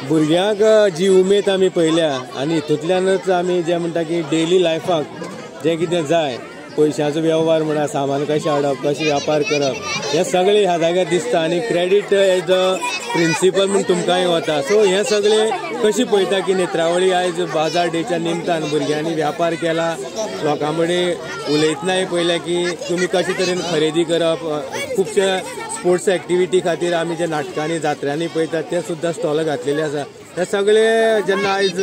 भुरग्यांक जी उमेद आमी पळयल्या आनी हितूंतल्यानच आमी जें म्हणटा की डेली लायफाक जें कितें जाय पयशांचो वेव्हार म्हणा, सामान कशें हाडप, कशें व्यापार करप, हें सगळें ह्या जाग्यार दिसता आनी क्रेडीट एज अ प्रिंसिपल म्हूण तुमकांय वता. सो हें सगळें कशी पळयता की नेत्रावळी आयज बाजार डेच्या निमतान भुरग्यांनी व्यापार केला, लोकां कडेन उलयतनाय पळयलें की तुमी कशे तरेन खरेदी करप, खुबशे स्पोर्ट्स एक्टिविटी खातीर आमी जे नाटकांनी जात्र्यांनी पळयतात ते सुद्दां स्टॉल घातलेले आसा. हे सगळे जेन्ना आयज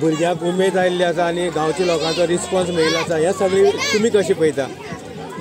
भुरग्यांक उमेद आयिल्ली आसा आनी गांवच्या लोकांचो रिस्पॉन्स मेळिल्लो आसा, हे सगळे तुमी कशें पळयता?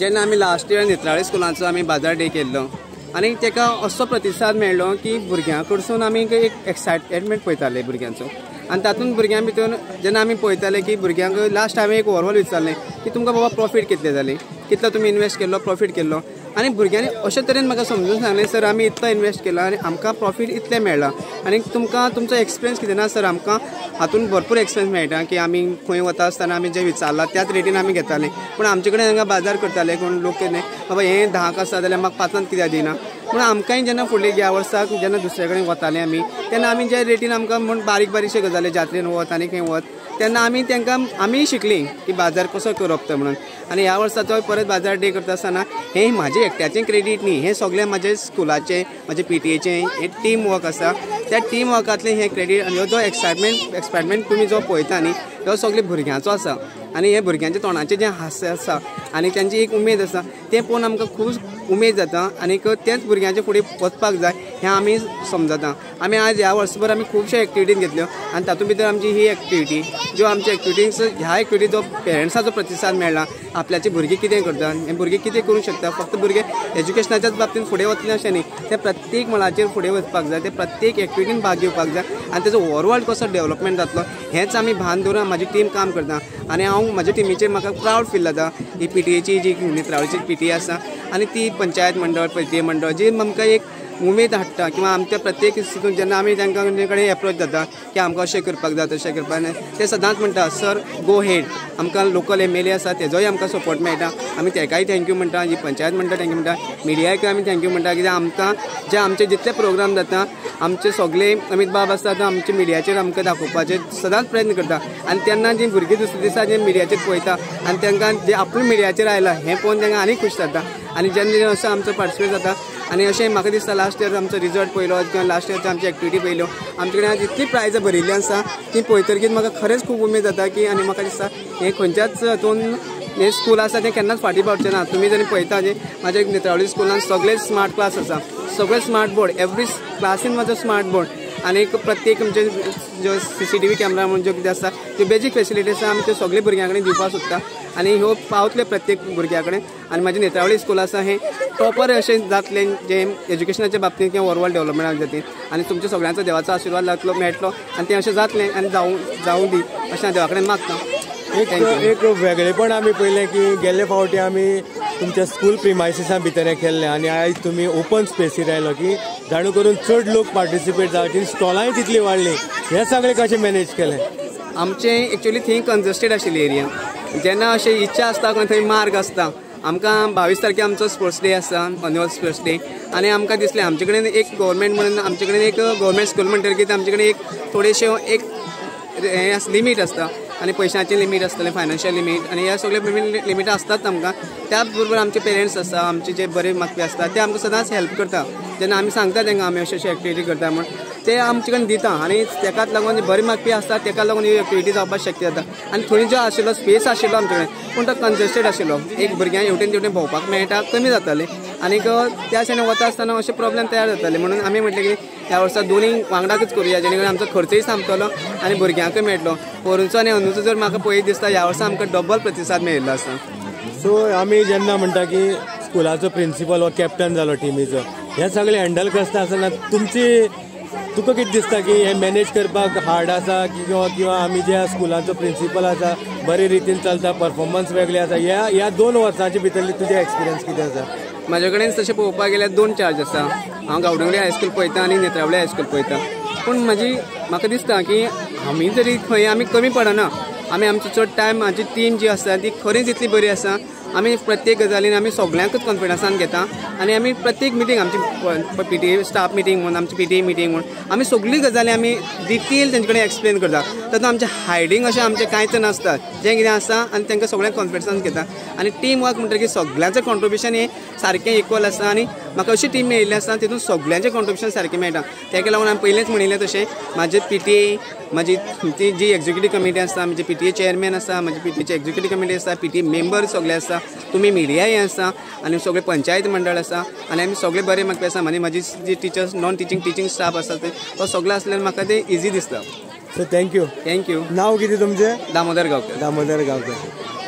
जेन्ना आमी लास्ट इयर नेत्रावळी स्कुलांचो आमी बाजार डे केल्लो आनी ताका असो प्रतिसाद मेळ्ळो की भुरग्यां कडसून आमी एक एक्सायटमेंट पळयताले भुरग्यांचो आनी तातूंत भुरग्यां भितर जेन्ना आमी पळयताले की भुरग्यांक लास्ट हांवें एक ओवरऑल विचारलें की तुमकां बाबा प्रॉफीट कितले जाले, कितलो तुमी इन्वेस्ट केल्लो, प्रॉफीट केल्लो, आनी भुरग्यांनी अशे तरेन म्हाका समजून सांगलें सर आमी इतलो इन्वेस्ट केला आनी आमकां प्रॉफीट इतलें मेळ्ळां आनी तुमकां तुमचो एक्सपिरियन्स कितें ना सर आमकां हातून भरपूर एक्सपिरियन्स मेळटा की आमी खंय वता आसतना आमी जें विचारलां त्याच रेटीन आमी घेताले, पूण आमचे कडेन हांगा बाजार करताले कोण लोक कितें बाबा हें 10 आसा जाल्यार म्हाका 5 कित्याक दिना, पूण आमकांय जेन्ना फुडले ह्या वर्साक जेन्ना दुसरे कडेन वताले आमी तेन्ना आमी ज्या रेटीन आमकां म्हूण बारीक बारीकशे गजाली जात्रेन वत आनी खंय वत तेन्ना आमी तांकां आमी शिकलीं की बाजार कसो करप तो म्हणून. आनी ह्या वर्साचो परत बाजार डे करता आसतना हें म्हाजें एकट्याचें क्रेडीट न्ही, हें सगळें म्हाजें स्कुलाचें, म्हाजें PTA हें टीम वर्क आसा, त्या टीम वर्कांतलें हें क्रेडीट आनी हो जो एक्सायटमेंट तुमी जो पळयता न्ही तो सगळे भुरग्यांचो आसा आनी हे भुरग्यांच्या तोंडाचें जें हास्य आसा आनी तांची एक उमेद आसा तें पळोवन आमकां खूब उमेद जाता आनी तेंच भुरग्यांचे फुडें वचपाक जाय हें आमी समजता. आमी आज ह्या वर्सभर आमी खुबश्यो एक्टिविटीज घेतल्यो आनी तातूंत भितर आमची ही एक्टिविटी ज्यो आमच्या एक्टिविटीज ह्या एक्टिविटी जो पेरंट्साचो प्रतिसाद मेळ्ळा, आपल्याची भुरगीं कितें करता, हे भुरगीं कितें करूंक शकता, फक्त भुरगे एज्युकेशनाच्याच बाबतींत फुडें वतले अशें न्ही, ते प्रत्येक मळाचेर फुडें वचपाक जाय, ते प्रत्येक एक्टिविटीन भाग घेवपाक जाय आनी तेजो ओवरऑल कसो डेवलपमेंट जातलो हेंच आमी भान दवरून म्हाजी टीम काम करता आनी हांव म्हाज्या टिमीचेर म्हाका प्रावड फील जाता. ही PTAची जी नेत्रावळीची PTA आसा आनी ती पंचायत मंडळ, PTA मंडळ जी आमकां एक उमेद हाडटा किंवा आमच्या प्रत्येक हितून जेन्ना आमी तांकां कडेन एप्रोच जाता की आमकां अशें करपाक जाय तशें करपाक जाय ते सदांच म्हणटा सर गो हेड, आमकां लोकल MLA आसा तेजोय आमकां सपोर्ट मेळटा, आमी तेकाय thank you म्हणटा, जी पंचायत म्हणटा thank you म्हणटा, मिडियाकय आमी thank you म्हणटा कित्याक आमकां जे आमचे जितले प्रोग्राम जाता आमचे सगळे अमीत बाब आसता तो आमच्या मिडियाचेर आमकां दाखोवपाचे सदांच प्रयत्न करता आनी तेन्ना जी भुरगीं दुसरे दिसा जे मिडियाचेर पळयता आनी तांकां जे आपूण मिडियाचेर आयला हें पळोवन तांकां आनी खूश जाता आनी जेन्ना असो आमचो पार्टिसिपेट जाता आनी अशें म्हाका दिसता लास्ट इयर आमचो रिजल्ट पळयलो किंवा लास्ट इयरची आमची एक्टिविटी पळयल्यो आमचे कडेन आज इतली प्रायजां भरिल्ली आसा ती पळयतकीच म्हाका खरेंच खूब उमेद जाता की आनी म्हाका दिसता हें खंयच्याच हातून हें स्कूल आसा तें केन्नाच फाटीं पावचें ना. तुमी जरी पळयता न्ही म्हाज्या नेत्रावळी स्कुलान सगळे स्मार्ट क्लास आसा, सगळे स्मार्ट बोर्ड, एवरी क्लासीन म्हाजो स्मार्ट बोर्ड आनी प्रत्येक आमचे ज्यो CCTV camera म्हूण ज्यो कितें आसा त्यो बेजीक फेसिलिटी आसा आमी त्यो सगळे भुरग्यां कडेन दिवपाक सोदता आनी ह्यो पावतल्यो प्रत्येक भुरग्या कडेन आनी म्हाजें नेत्रावळी स्कूल आसा हें टॉपर अशें जातलें जें एज्युकेशनाच्या बाबतींत किंवा ओवरऑल डेवलपमेंटा जातलें आनी तुमच्या सगळ्यांचो देवाचो आशिर्वाद लागतलो मेळटलो आनी तें अशें जातलें आनी जावूं दी अशें हांव देवा कडेन मागता. एक वेगळेपण आमी पळयलें की गेल्ले फावटी आमी तुमच्या स्कूल प्रिमायसिसा भितर हें केल्लें आनी आयज तुमी ओपन स्पेसीर आयलो की जाणू करून चड लोक पार्टिसिपेट जावचे, स्टॉलांय तितली वाडली, हें सगळें कशें मॅनेज केलें? आमचें एक्चुअली थंय कंजस्टेड आशिल्ली एरिया, जेन्ना अशें इच्छा आसता थंय मार्ग आसता. आमकां 22 तारखे आमचो स्पोर्ट्स डे आसा, एन्युअल स्पोर्ट्स डे, आनी आमकां दिसलें आमचे कडेन एक गव्हर्मेंट म्हणून आमचे कडेन एक गव्हर्मेंट स्कूल म्हणटकीर आमचे कडेन एक थोडेशें एक हें लिमीट आसता आनी पयशांचें लिमीट आसतलें, फायनान्शियल लिमीट आनी ह्या सगळे लिमिटां आसतात आमकां. त्याच बरोबर आमचे पेरंट्स आसता, आमचे जे बरे मागपी आसता ते आमकां सदांच हेल्प करता. जेन्ना आमी सांगता तांकां आमी अशें अशें एक्टिविटी करता म्हूण ते आमचे कडेन दिता आनी तेकाच लागून बरे मागपी आसता तेका लागून ही एक्टिविटी जावपाक शक्य जाता. आनी थंय जो आशिल्लो स्पेस आशिल्लो आमचे कडेन पूण तो कंजस्टेड आशिल्लो, एक भुरग्यांक हेवटेन तेवटेन भोंवपाक मेळटा कमी जातालें आनीक त्या सायडीन वता आसतना अशे प्रॉब्लेम तयार जाताले. म्हणून आमी म्हटलें की ह्या वर्सा दोनूय वांगडाकच करुया जेणे करून आमचो खर्चय सामतलो आनी भुरग्यांकय मेळटलो. पोरूंचो आनी अंदूचो जर म्हाका पळयत दिसता ह्या वर्सा आमकां डबल प्रतिसाद मेळिल्लो आसा. सो आमी जेन्ना म्हणटा की स्कुलाचो प्रिंसिपल हो कॅप्टन जालो टिमीचो, हें सगळें हँडल करता आसतना तुमची तुका कितें दिसता की हें मॅनेज करपाक हार्ड आसा किंवा आमी जे स्कुलाचो प्रिंसिपल आसा बरे रितीन चलता, परफॉर्मन्स वेगळे आसा, ह्या 2 वर्सांचे भितरली तुजें एक्सपिरियन्स कितें आसा? म्हाजे कडेन तशें पळोवपाक गेल्यार 2 चार्ज आसा. हांव गांवडोंगरी हायस्कूल पळयता आनी नेत्रावळी हायस्कूल पळयता. पूण म्हाका दिसता की आमी जरी खंय आमी कमी पडना, आमी आमचो चड टायम आमची टीम जी आसा ती खरीच इतली बरी आसा. आमी प्रत्येक गजालीन आमी सगळ्यांकूच कॉन्फिडन्सान घेता आनी आमी प्रत्येक मिटींग आमची पीटीए स्टाफ मिटींग म्हूण, आमची पीटीए मिटींग म्हूण आमी सगळी गजाली आमी डिटेल तेंचे कडेन एक्सप्लेन करता. तातूंत आमचें हायडींग अशें आमचें कांयच नासता, जें कितें आसा आनी तांकां सगळ्यांक कॉन्फिडन्सान घेता. आनी टीम वर्क म्हणटकीर सगळ्यांचें कॉन्ट्रिब्युशन हें सारकें इक्वल आसा आनी म्हाका अशी टीम मेळिल्ली आसा तितून सगळ्यांचें कॉन्ट्रिब्युशन सारकें मेळटा. ताका लागून हांवें पयलेंच म्हणिल्लें तशें म्हाजे पीटीए, म्हाजी ती जी एक्झिक्युटीव कमिटी आसा, म्हजी पीटीए चेअरमॅन आसा, म्हजी पीटीएची एक्झिक्युटीव कमिटी आसा, पीटीए मेंबर सगळे आसा, तुमी मिडियाय आसा आनी सगळे पंचायत मंडळ आसा आनी आमी सगळे बरे म्हाका आसा. आनी म्हाजी जी teachers, non teaching teaching staff आसा ते तो सगळो आसल्यार म्हाका ते इजी दिसता. So thank you. Thank you. नाव कितें तुमचें? दामोदर गांवकर. दामोदर गांवकर.